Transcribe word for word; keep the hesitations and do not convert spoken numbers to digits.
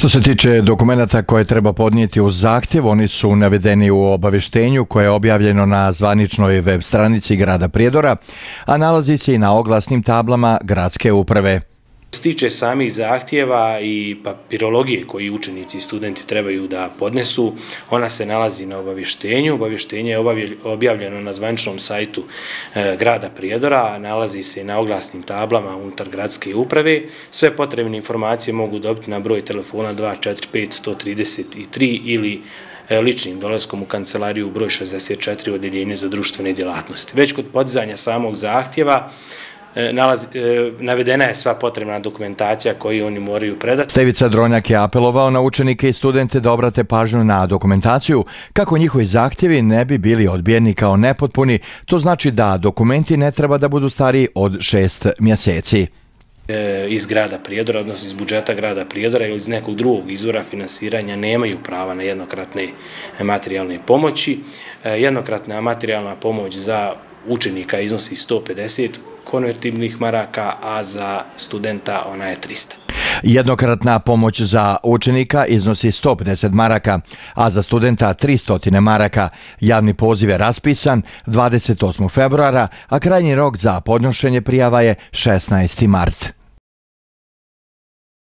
Što se tiče dokumenata koje treba podnijeti uz zahtjev, oni su navedeni u obavještenju koje je objavljeno na zvaničnoj web stranici grada Prijedora, a nalazi se i na oglasnim tablama gradske uprave. Što se tiče samih zahtjeva i papirologije koji učenici i studenti trebaju da podnesu, ona se nalazi na obavještenju. Obavještenje je objavljeno na zvaničnom sajtu grada Prijedora, a nalazi se i na oglasnim tablama unutar gradske uprave. Sve potrebne informacije mogu dobiti na broj telefona dva četiri pet jedan tri tri ili ličnim dolaskom u kancelariju broj šezdeset četiri Odeljenje za društvene djelatnosti. Već kod podizanja samog zahtjeva Nalazi, navedena je sva potrebna dokumentacija koju oni moraju predati. Stevica Dronjak je apelovao na učenike i studente da obrate pažnju na dokumentaciju kako njihovi zahtjevi ne bi bili odbijeni kao nepotpuni. To znači da dokumenti ne treba da budu stariji od šest mjeseci. Iz grada Prijedora, odnosno iz budžeta grada Prijedora ili iz nekog drugog izvora finansiranja nemaju prava na jednokratne materijalne pomoći. Jednokratna materijalna pomoć za učenika iznosi sto pedeset konvertibilnih maraka, a za studenta ona je trista. Jednokratna pomoć za učenika iznosi sto pedeset maraka, a za studenta tristo maraka. Javni poziv je raspisan dvadeset osmog februara, a krajnji rok za podnošenje prijava je šesnaesti mart.